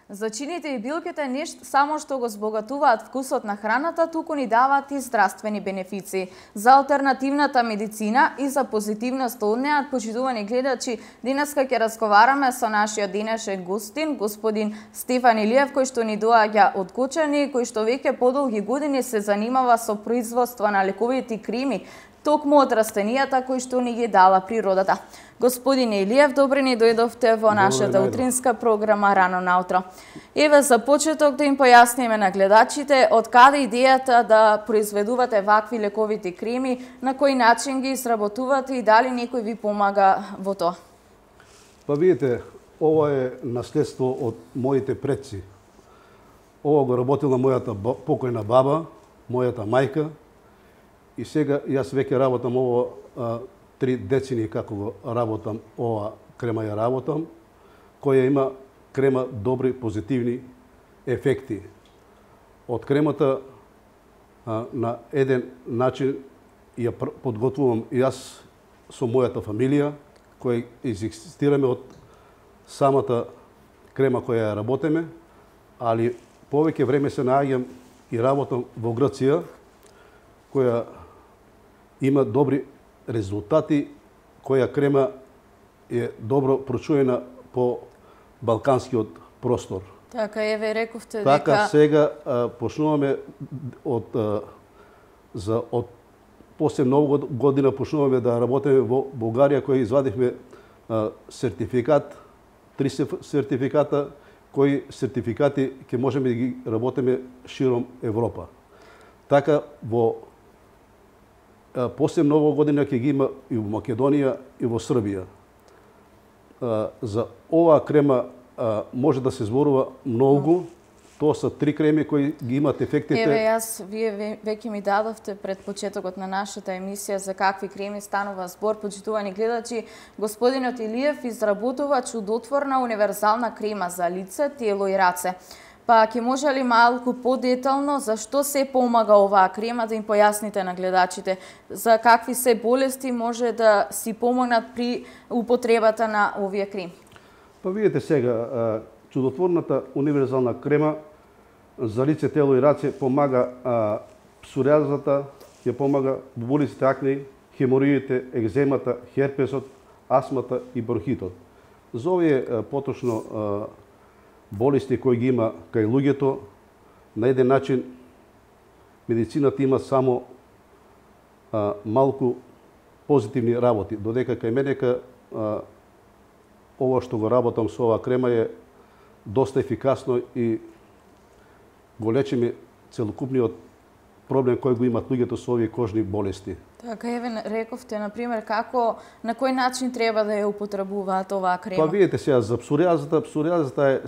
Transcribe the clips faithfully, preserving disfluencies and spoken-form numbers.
Зачините и билките не само што го збогатуваат вкусот на храната, туку ни даваат и здравствени бенефиции. За алтернативната медицина и за позитивност од неа, почитувани гледачи, денеска ќе разговараме со нашиот денешен гостин, господин Стефан Илиев, кој што ни доаѓа од Кочани, кој што веќе подолги години се занимава со производство на лековити креми, токму од растенијата кои што ни ги дала природата. Господин Илиев, добре ни дојдовте во нашата утринска програма Рано наутро. Еве за почеток да им појасниме на гледачите од каде идејата да произведувате вакви лековити креми, на кој начин ги изработувате и дали некој ви помага во тоа? Па видите, ова е наследство од моите предци. Ова го работила мојата покојна баба, мојата мајка, и сега јас веќе работам ова а, три децени како го работам ова крема ја работам, која има крема добри позитивни ефекти. Од кремата а, на еден начин ја подготвувам јас со мојата фамилија, која изекзистираме од самата крема која ја работиме, али повеќе време се нааѓам и работам во Грција, која има добри резултати, која крема е добро прочуена по балканскиот простор. Така, еве рековте дека... Така, сега а, почнуваме од, а, за, од после нова година почнуваме да работиме во Бугарија, која извадивме а, сертификат, три сертификата, кои сертификати ќе можеме да ги работиме широм Европа. Така, во после нова година ќе ги има и во Македонија и во Србија. За оваа крема може да се зборува многу. Тоа се три креми кои ги имат ефектите. Еве јас, вие веќе ми дадовте пред почетокот на нашата емисија за какви креми станува збор, почитувани гледачи. Господинот Илиев изработува чудотворна универзална крема за лице, тело и раце. Па ќе може ли малку подетално зашто се помага оваа крема, да им појасните на гледачите за какви се болести може да си помогнат при употребата на овие креми? Па видите сега, чудотворната универзална крема за лице, тело и раце помага псориазата, ќе помага бубулиците акне, хемороидите, екземата, херпесот, астмата и бронхитот. За овие поточно болести кои ги има кај луѓето, на еден начин медицината има само а, малку позитивни работи, додека кај мене ка, а, ова што го работам со оваа крема е доста ефикасно и го лечиме целокупниот проблем кој го имат луѓето со овие кожни болести. Така, еве рековте, например, како, на кој начин треба да ја употребуваат оваа крема? Па видите сега, за псориазата, псориазата е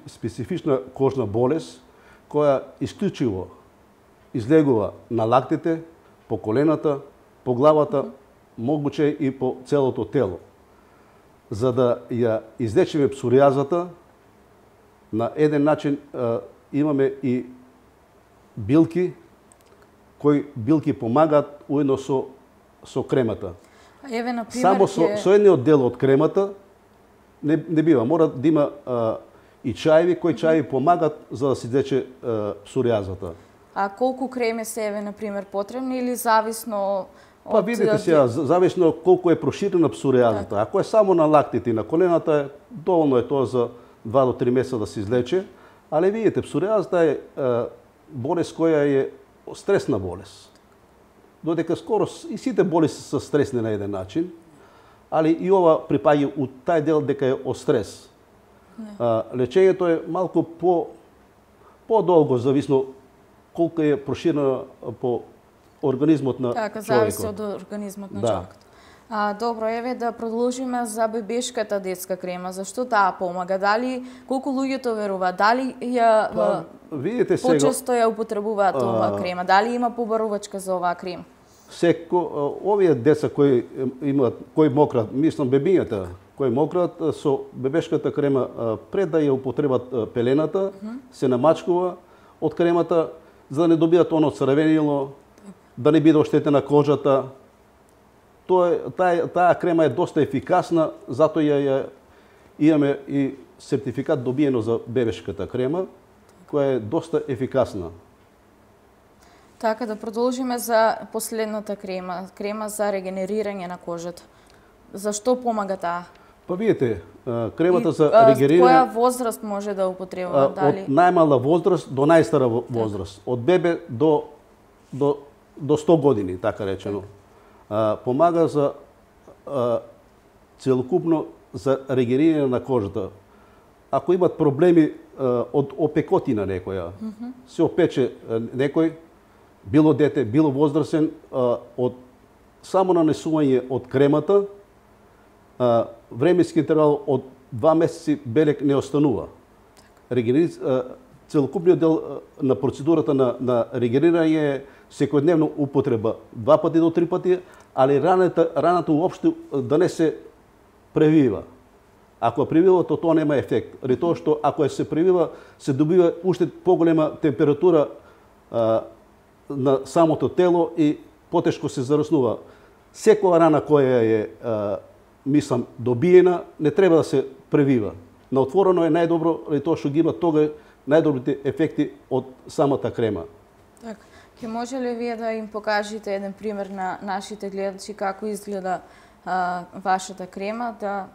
специфична кожна болест, која исклучиво излегува на лактите, по колената, по главата, mm -hmm. могуче и по целото тело. За да ја излечиме псориазата, на еден начин а, имаме и билки, кои билки помагаат уедно со, со кремата. Еве, например, само со, ке... со едниот дел од кремата не, не бива. Мора да има а, и чаеви, кои чаеви помагаат за да се излече псориазата. А колку креми се, еве, например, потребни или зависно од... Па видите сега, зависно колку е проширена псориазата. Так. Ако е само на лактите и на колената, доволно е тоа за два до три месеца да се излече. Але видите, псориазата е а, болест која е стресна болест. Додека скоро и сите болести се стресни на еден начин, али и ова припаѓа у тај дел дека е од стрес. А, лечењето е малку по по-долго, зависно колку е проширено по организмот на така, човекот. Така, зависи од организмот на да. човекот. А, добро, еве да продолжиме за бебешката детска крема. Зашто таа помага? Дали колку луѓето веруваат? Дали ја па, видите сега почесто ја употребуваат оваа крема? Дали има побарувачка за оваа крема? Секо овие деца кои имаат кои мократ, мислам бебињата, кои мократ со бебешката крема пред да ја употребат пелената, uh -huh. се намачкува од кремата за да не добијат оно црвенило, да не биде оштетена кожата. Тоа таа таа крема е доста ефикасна, затоа ја, ја имаме и сертификат добиено за бебешката крема, која е доста ефикасна. Така, да продолжиме за последната крема, крема за регенерирање на кожата. Зашто помага таа? Па видите, кремата за а, регенерирање... Која возраст може да употребува? Дали? Од најмала возраст до најстара возраст. Од бебе до, до, до сто години, така речено. А, помага за а, целокупно за регенерирање на кожата. Ако имат проблеми а, од опекотина некоја, mm -hmm. се опече а, некој, било дете, било возрасен, а, од само нанесување од кремата, а, временски интервал од два месеци белек не останува. Регенери... Целокупниот дел на процедурата на, на регенерирање е секојдневно употреба, два пати до три пати, али раната, раната уопште да не се превива. Ако е превива, то тоа нема ефект. Али тоа што ако е се превива, се добива уште поголема температура а, на самото тело и потешко се зараснува. Секоја рана која е, а, мислам, добиена, не треба да се превива. На отворено е најдобро, али тоа што ги има тога најдобрите ефекти од самата крема. Так, ќе може ли вие да им покажете еден пример на нашите гледачи како изгледа а, вашата крема, да...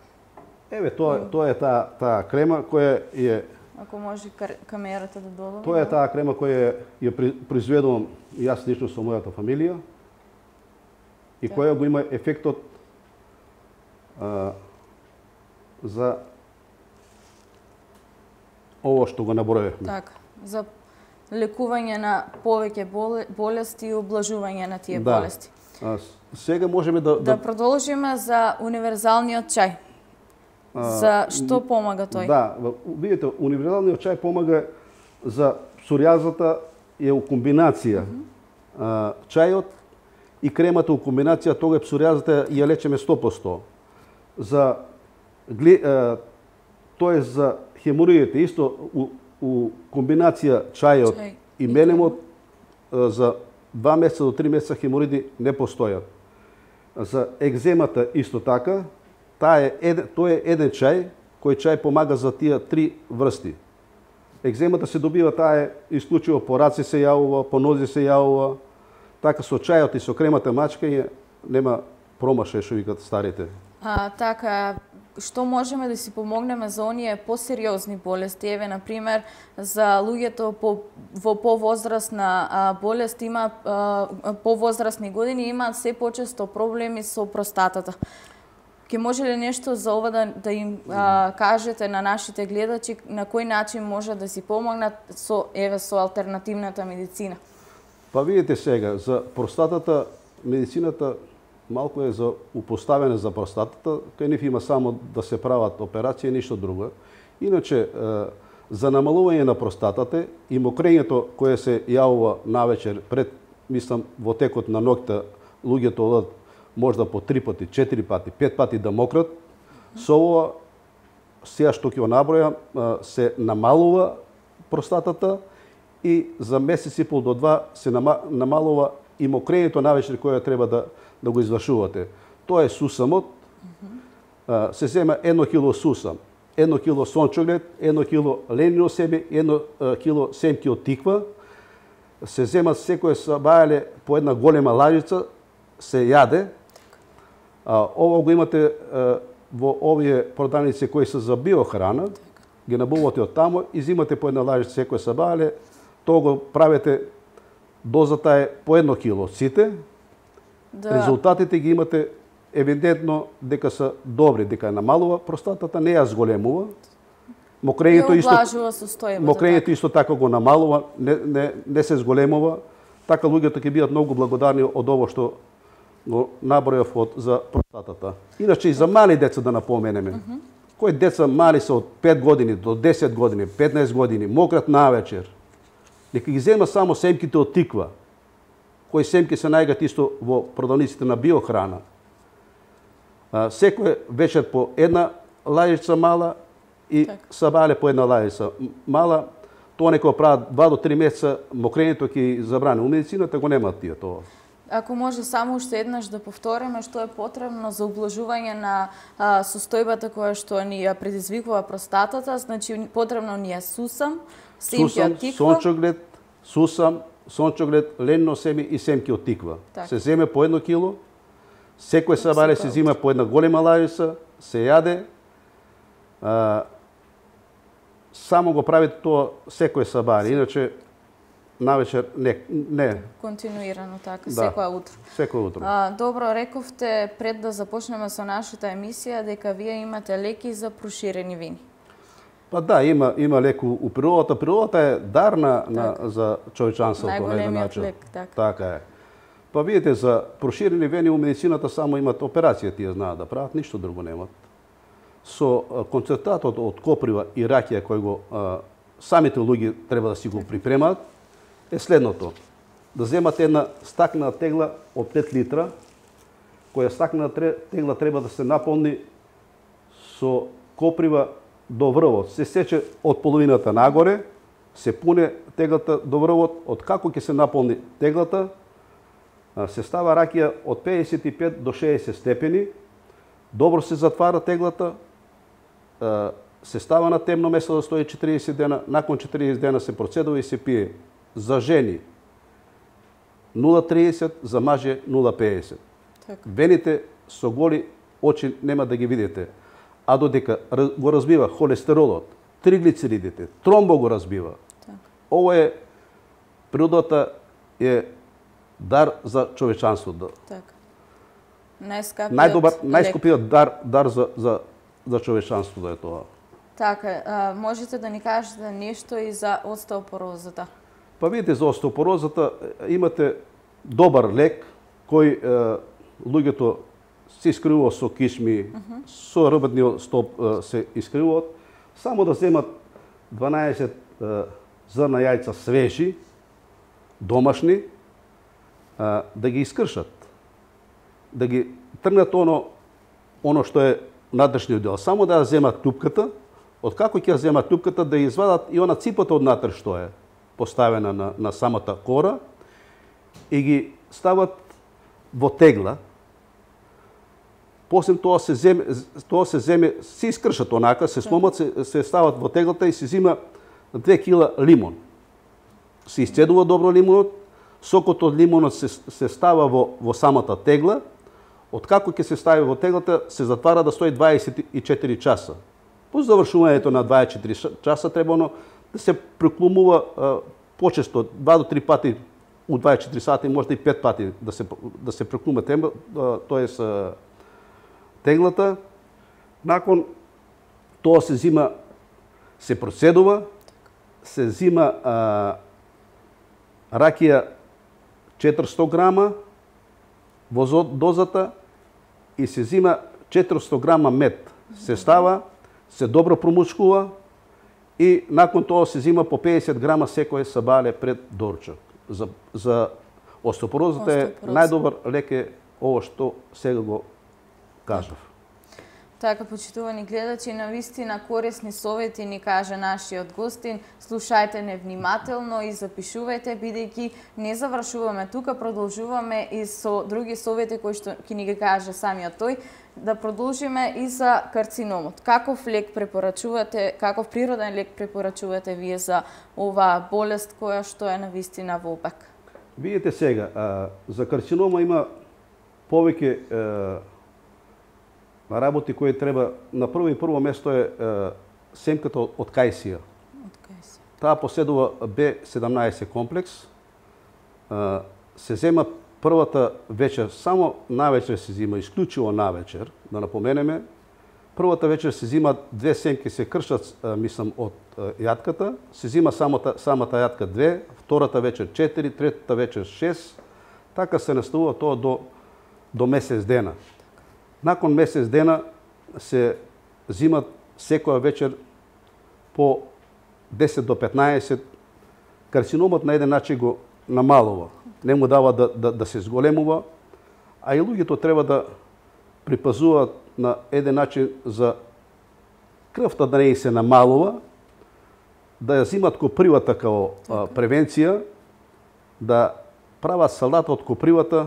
Еве, тоа, тоа е таа, таа крема која е... Ако може камерата да додава. Тоа е таа крема која ја произведувам јас лично со мојата фамилија и так. Која го има ефектот а, за ово што го наброевме. Така, за лекување на повеќе болести и облажување на тие да. болести. А, сега можеме да... Да, да продолжиме за универзалниот чај. За што помага тој? Да, видите, универзалниот чај помага за псориазата, е у комбинација. Mm -hmm. Чајот и кремата у комбинација, тога е псориазата ја лечеме сто проценти. За тоа е за хемороидите исто у, у комбинација чајот Чај. и мелемот за два месеца до три месеца хемороиди не постојат. За екземата исто така. Таа е еден, тој е еден чај, кој чај помага за тие три врсти. Екземата се добива, таа е исклучиво по раце се јавува, по нозе се јавува. Така со чајот и со кремата мачкање нема промашај, што викат старите. А, така, што можеме да си помогнеме за оние посериозни болести? Еве, например, за луѓето по, во повозрастна болест има повозрастни години имаат се почесто проблеми со простатата. Ке може ли нешто за ова да, да им а, кажете на нашите гледачи на кој начин може да си помогнат со еве со алтернативната медицина? Па видите сега, за простатата медицината малку е за упоставена за простатата, кај нив има само да се прават операција, ништо друго. Иначе за намалување на простатата и мокрењето кое се јавува навечер пред, мислам, во текот на ноќта луѓето одат можда по три пати, четири пати, пет пати да мократ. Со ова, сега што ќе го набројам, се намалува простатата и за месец и пол до два се намалува и мокрењето навечер кое треба да, да го извршувате. Тоа е сусамот. Се зема едно кило сусам, едно кило сончоглед, едно кило ленино себе, едно кило семки од тиква. Се земат секој сабајале по една голема лажица, се јаде. А, ова го имате а, во овие продавници кои се за биохрана, ги набувате од тамо и зимате по една лажица секој сабајале, тоа го правите, дозата е по едно кило сите, да. Резултатите ги имате евидентно дека се добри, дека е намалува простатата, не ја зголемува. Мокрењето исто, мокрењето исто така го намалува, не, не, не се зголемува. Така луѓето ќе бидат многу благодарни од ово што го набројав од за простатата. Иначе и за мали деца да напоменеме. Mm -hmm. Кои деца мали се од пет години до десет години, петнаесет години, мократ навечер. Нека ги зема само семките од тиква. Кои семки се најгат исто во продавниците на биохрана. А, секој вечер по една лажица мала и так. Сабале по една лажица мала. Тоа некој прават два до три месеца, мокрењето ќе забрани. У медицината го немаат тие тоа. Ако може само уште еднаш да повториме што е потребно за ублажување на а, состојбата која што ни ја предизвикува простатата, значи потребно ни е сусам, семки од тиква, сончоглед, сусам, сончоглед, ленно семи и семки од тиква. Так. Се земе по едно кило, секој сабаре се зима по една голема лајица, се јаде, а, само го правите тоа секој сабаре, иначе навечер не, не. Континуирано така, Да, секоја утро. Секој утро. А, добро, рековте пред да започнеме со нашата емисија дека вие имате леки за проширени вини. Па да, има има леку у природата. Природата е дар на, на за човечанството на еден Најголемиот начин. лек, така. Така е. Па видите, за проширени вени у медицината само имат операција, тие знаат да прават, ништо друго немат. Со а, концентратот од коприва и ракија кој го а, самите луѓе треба да си го припремат, е следното. Да земате една стаклена тегла од пет литра, која стаклена тегла треба да се наполни со коприва до врвот. Се сече од половината нагоре, се пуне теглата до врвот, од како ќе се наполни теглата, се става ракија од педесет и пет до шеесет степени, добро се затвара теглата, се става на темно место да стои четириесет дена, након четириесет дена се процедува и се пие. За жени нула тридесет, за маже нула педесет. Така. Вените со голи очи нема да ги видите, а додека го разбива холестеролот, триглицеридите, тромбо го разбива. Така. Ово е, природата е дар за човечанството. Така. Најскапиот Најдобар, лек. најскупиот дар, дар за, за, за човечанството е тоа. Така, а, можете да ни кажете нешто и за остеопорозата? Па видите, за остеопорозата имате добар лек кој е, луѓето се искривува со кишми, uh -huh. со рбатниот стоп е, се искривуваат, само да земат дванаесет е, зрна јајца свежи, домашни, е, да ги искршат, да ги тргнат оно, оно што е надршниот дел, само да ја земат тупката, од како ќе ја земат тупката, да ја извадат и она ципата од натре што е поставена на, на самата кора и ги стават во тегла. После тоа се земе, тоа се земе, се искршат онака, се сломат, се, се стават во теглата и се зима две кила лимон. Се исцедува добро лимонот, сокот од лимонот се, се става во, во самата тегла, од како ќе се стави во теглата, се затвара да стои дваесет и четири часа. По завршувањето на дваесет и четири часа треба оно да се преклумува а, почесто, два до три пати у дваесет и четири сати, може и пет пати да се, да се преклума темба, тоест а, теглата. Након тоа се зима, се процедува, се зима а, ракија четиристо грама во дозата и се зима четиристо грама мед. Се става, се добро промучкува и након тоа се зима по педесет грама секој сабале пред дорчак. За, за остеопорозата е најдобар лек е ово што сега го кажав. Така, почитувани гледачи, навистина корисни совети ни каже нашиот гостин. Слушајте не внимателно и запишувајте, бидејќи не завршуваме тука, продолжуваме и со други совети кои што ќе ни ги каже самиот тој. Да продолжиме и за карциномот. Каков лек препорачувате, каков природен лек препорачувате вие за оваа болест која што е навистина во обек? Видите сега, а, за карцинома има повеќе а, работи кои треба, на прво и прво место е, е семката од кајсија. Од кајсија. Таа поседува Б седамнаесет комплекс. Е, се зема првата вечер, само навечер се зима, исклучиво навечер, да напоменеме. Првата вечер се зима две семки, се кршат, мислам, од јатката. Се зима самата, самата јатка две, втората вечер четири, третата вечер шест. Така се наставува тоа до, до месец дена. Након месец дена се зимат секоја вечер по десет до петнаесет. Карциномот на еден начин го намалува. Не му дава да, да, да се зголемува, а и луѓето треба да припазуваат на еден начин за крвта да не се намалува, да ја зимат копривата као а, превенција, да прават салата од копривата,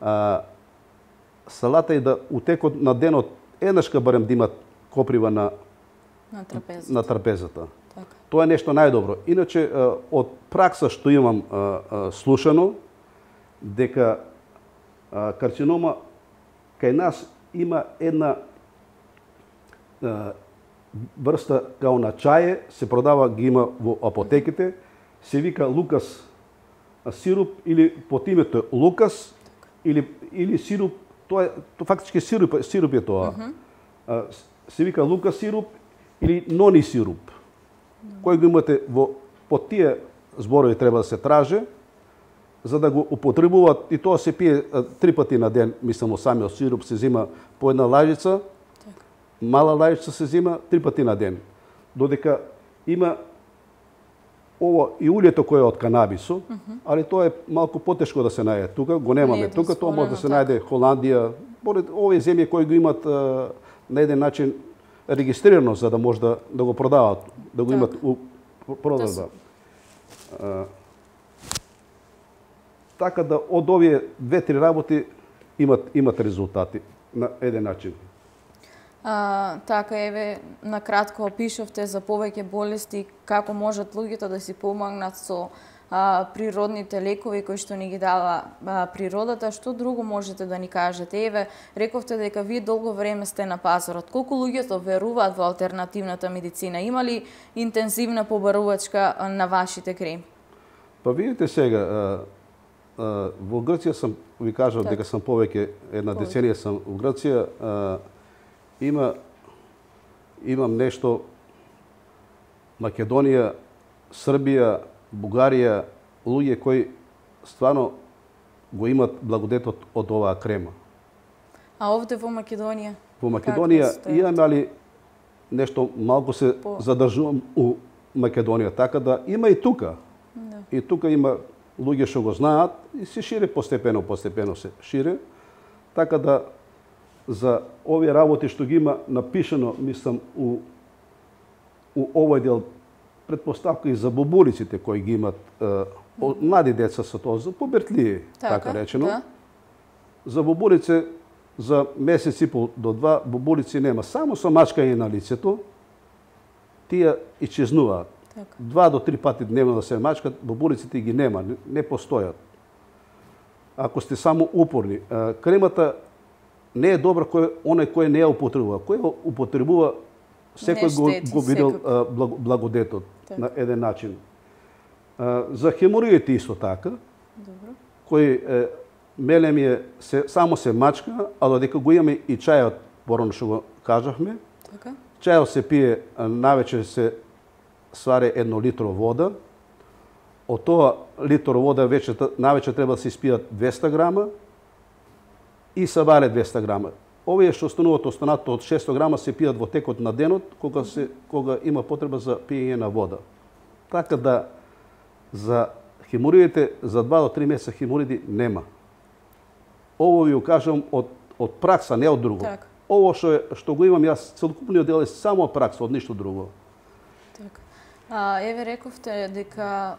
а, салата и да утекот на денот еднашка барем да имат коприва на на трапезата. На трапезата. Така. Тоа е нешто најдобро. Иначе од пракса што имам слушано дека карцинома кај нас има една врста као на чаје, се продава, ги има во апотеките, се вика Лукас сируп или под името Лукас или или сируп, тоа е тоа фактички сируп, сируп е тоа. Uh -huh. Се вика Лукас сируп или нони сируп. Uh -huh. Кој го имате во под тие зборови треба да се траже за да го употребуваат и тоа се пие три пати на ден, мислам, самиот сируп се зима по една лажица. Мала лајчица се зима три пати на ден. Додека има ово и улјето кое е од канабисо, uh -huh. али тоа е малку потешко да се најде тука, го немаме не, тука, тоа може да се најде Холандија, поред овие земји кои го имат а, на еден начин регистрирано за да може да, да го продават, да го так. имат у продажба. А, така да од овие две-три работи имат имат резултати на еден начин. А, така, еве, накратко опишавте за повеќе болести, како можат луѓето да си помагнат со а, природните лекови кои што ни ги дава а, природата. Што друго можете да ни кажете? Еве, рековте дека вие долго време сте на пазарот. Колку луѓето веруваат во алтернативната медицина? Има ли интензивна побарувачка на вашите креми? Па видите сега, а, а, во Грција сам, ви кажав так. дека сам повеќе, една повеќе. деценија сам во Грција, а, Има, имам нешто Македонија, Србија, Бугарија, луѓе кои стварно го имат благодетот од оваа крема. А овде во Македонија? Во Македонија имаме, али нешто малку се По... задржувам у Македонија, така да има и тука. Да. И тука има луѓе што го знаат и се шире постепено, постепено се шире. Така да за овие работи што ги има напишано, мислам, у, у овој дел, предпоставка и за бобулиците кои ги имат е, о, млади деца со тоа, за побертлии, така, така речено. Да. За бобулице, за месец и пол до два, бобулици нема. Само со мачкање на лицето, тие исчезнуваат. Така. Два до три пати дневно да се мачкат, бобулиците ги нема, не, не постојат. Ако сте само упорни, е, кремата не е добра кој оној кој не ја употребува. Кој ја употребува, секој го, го видел благо, благодетот так. на еден начин. А, за хемороидите исто така. Добро. Кој е, мелем е се, само се мачка, а додека го имаме и чајот, порано што го кажавме. Така. Чајот се пие, навечер се сваре едно литро вода. Од тоа литро вода вече навечер треба да се испијат двеста грама. И се варе двеста грама. Овие што остануваат останато од шесто грама се пијат во текот на денот, кога се кога има потреба за пиење на вода. Така да за хемороидите за два до три месеца хемороиди нема. Ово ви го кажам од од пракса, не од друго. Так. Ово што што го имам јас целокупниот дел е само од пракса, од ништо друго. Така. А еве рековте дека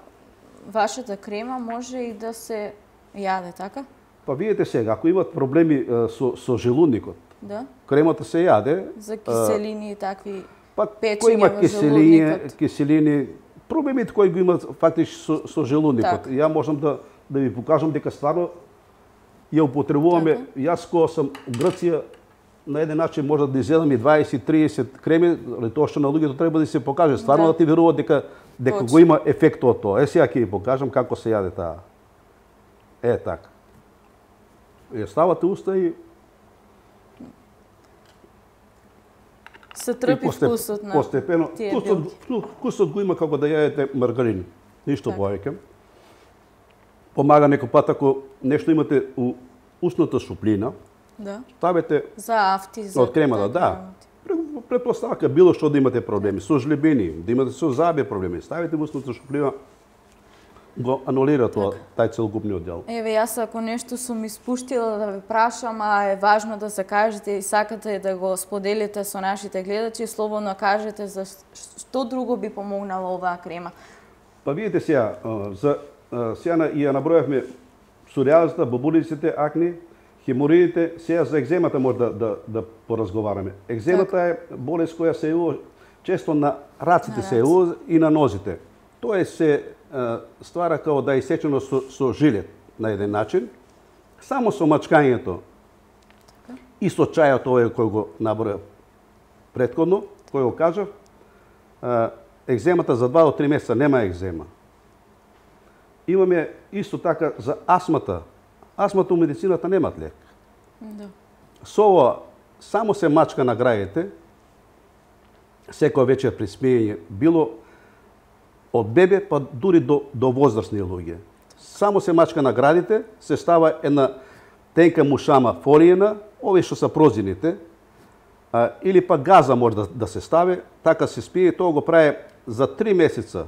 вашата крема може и да се јаде, така? Па видите сега, ако имат проблеми со, со желудникот, да? Кремата се јаде. За киселини и такви па, печења има во киселини, желудникот. киселини, проблемите кои го имат фактички со, со желудникот. Так. Ја можам да, да ви покажам дека стварно ја употребуваме. Така. Јас кога сам у Грција, на еден начин може да изедам и дваесет-триесет креми, али тоа што на луѓето треба да се покаже. Стварно да, да ти веруваат дека, дека го има ефект од тоа. Е, сега ќе ви покажам како се јаде таа. Е, така. Ја ставате уста и се трпи постеп, вкусот на постепено, вкусот, вкусот го има како да јадете маргарин. Ништо повеќе. Помага некој пат ако нешто имате у устната шуплина. Да. Ставете за афти, за од кремата, да. Претпоставка било што да имате проблеми со жлебини, да имате со заби проблеми, ставите во устната шуплина, го анулира тоа, тај целокупниот дел. Еве, јас ако нешто сум испуштила да ве прашам, а е важно да се кажете и сакате да го споделите со нашите гледачи, слободно кажете за што друго би помогнала оваа крема. Па видите сега, за сега ја набројавме псориазата, бобулиците, акни, хемороидите, сега за екземата може да, да, да поразговараме. Екземата е болест која се јавува често на раците, се јавува и на нозите. Тоа се а, ствара како да е исечено со, со жилет на еден начин, само со мачкањето и со чајот овој кој го наброја претходно, кој го кажав, а, екземата за два до три месеца нема екзема. Имаме исто така за астмата. Астмата у медицината немат лек. Да. Со ова само се мачка на граѓите, секој вечер при смеење, било од бебе па дури до, до возрастни луѓе. Само се мачка на градите, се става една тенка мушама фолиена, овие што са прозините, а, или па газа може да, да се стави, така се спие, тоа го прави за три месеца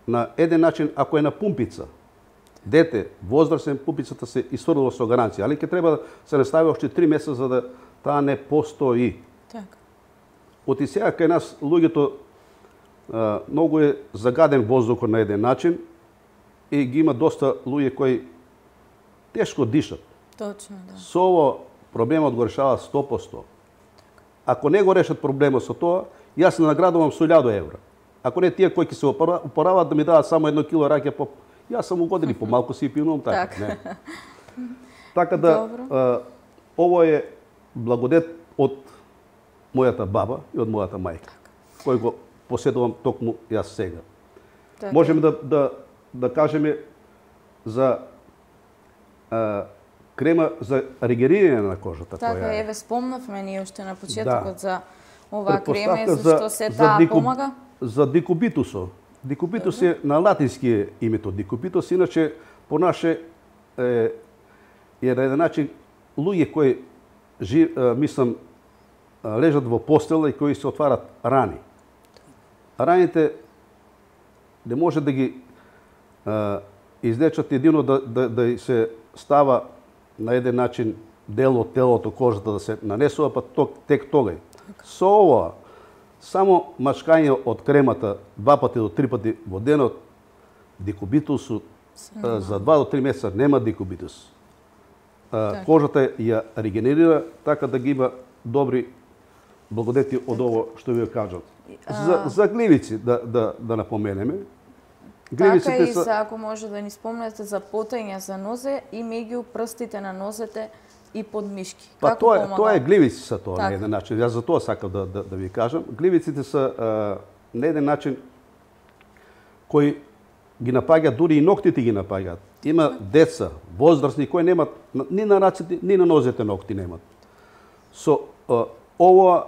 на еден начин, ако е на пумпица. Дете, возрастен, пумпицата се исфрлува со гаранција, али ќе треба да се настави още три месеца за да таа не постои. Така. Оти сега кај нас луѓето а, многу е загаден воздухот на еден начин и ги има доста луѓе кои тешко дишат. Точно, да. Со ово проблемот го решава сто по сто. Ако не го решат проблемот со тоа, јас не наградувам со илјаду евра. Ако не тие кои ќе се опорават да ми дадат само едно кило раке, по... јас сам угоден и помалку си пивнувам така. Так. Не. Така да, а, ово е благодет од мојата баба и од мојата мајка, кој го поседувам токму јас сега. Так. Можеме да, да, да кажеме за а, крема за регенерирање на кожата. Така, која е. еве спомнавме ние уште на почетокот Да. за оваа крема, Претпоставка зашто се таа дику- помага? За дикубитусо. Дикубитус е на латински е името дикубитус, иначе по наше е, е на еден начин луѓе кои жи, е, мислам лежат во постела и кои се отварат рани. Раните не може да ги е, излечат едино да, да, да се става на еден начин дел од телото, кожата да се нанесува, па ток, тек тогај. Со ова, само мачкање од кремата два пати до три пати во денот, дикубитусу за два до три месеца нема дикубитус. А, кожата ја регенерира така да ги има добри благодети од ово што ви кажат. За, за гливици да, да, да напоменеме. Така и за, ако може да ни спомнете за потење за нозе и меѓу прстите на нозете и под мишки. Па Како тоа, помага? тоа е гливици са тоа Така. на еден начин. Јас за тоа сакам да, да, да ви кажам. Гливиците са а, на еден начин кои ги напаѓаат, дури и ноктите ги напаѓаат. Има деца, возрастни кои немат ни на раците, ни на нозете ногти немат. Со а, ова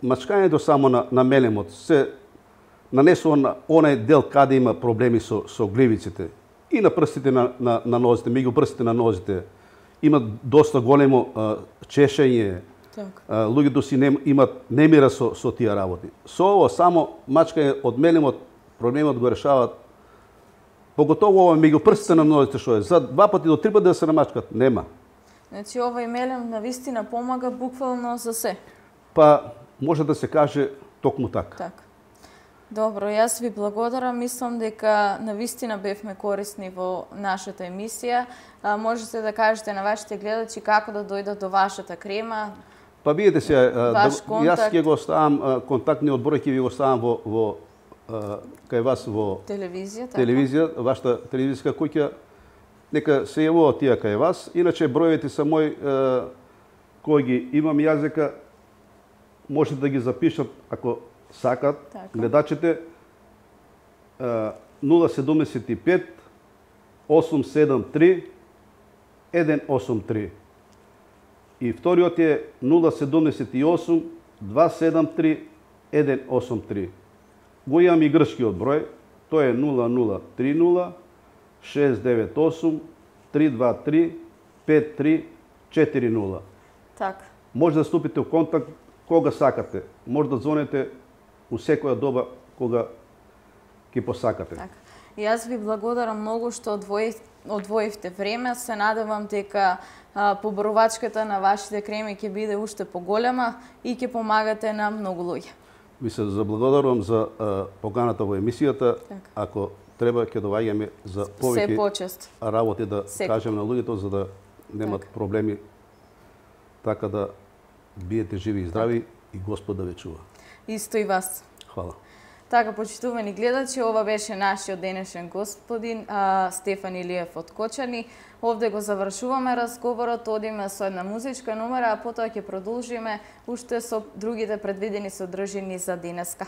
мачкањето само на, на мелемот се нанесува на онај дел каде има проблеми со, со гливиците и на прстите на, на, на нозите, меѓу прстите на нозите. Има доста големо а, чешење, Так. а, луѓето си не, имат немира со, со тие работи. Со ово само мачкање од мелемот проблемот го решават. Поготово ова меѓу прстите на нозите што е за два пати до три пати да се намачкат, нема. Значи овој мелем на вистина помага буквално за се. Па може да се каже токму така. Така. Добро, јас ви благодарам. Мислам дека навистина бевме корисни во нашата емисија. А, можете да кажете на вашите гледачи како да дојдат до вашата крема. Па видите се, а, да, Ваш контакт. јас ќе го ставам а, контактниот број ќе ви го ставам во во а, кај вас во Телевизија, така? телевизија, вашата телевизиска куќа. Нека се јавуваат тие кај вас. Иначе броевите са мој а, кои ги имам јазика, можете да ги запишат ако сакат Така. гледачите нула седум пет осум седум три еден осум три. И вториот е нула седум осум два седум три еден осум три. Го имам и грчкиот број, тој е нула нула три нула шест девет осум три два три пет три четири нула. Така. Може да ступите во контакт кога сакате. Може да звоните у секоја доба кога ќе посакате. Така. И јас ви благодарам многу што одвоив, одвоивте време. Се надевам дека а, поборувачката на вашите креми ќе биде уште поголема и ќе помагате на многу луѓе. Ви се заблагодарувам за а, поканата во емисијата. Така. Ако треба ќе доаѓаме за Се повеќе почест. работи да Секако. кажем на луѓето за да немат проблеми. Така да биете живи и здрави и Господ да ве чува. Исто и вас. Хвала. Така, почитувани гледачи, ова беше нашиот денешен господин а, Стефан Илиев од Кочани. Овде го завршуваме разговорот, одиме со една музичка номера, а потоа ќе продолжиме уште со другите предвидени содржини за денеска.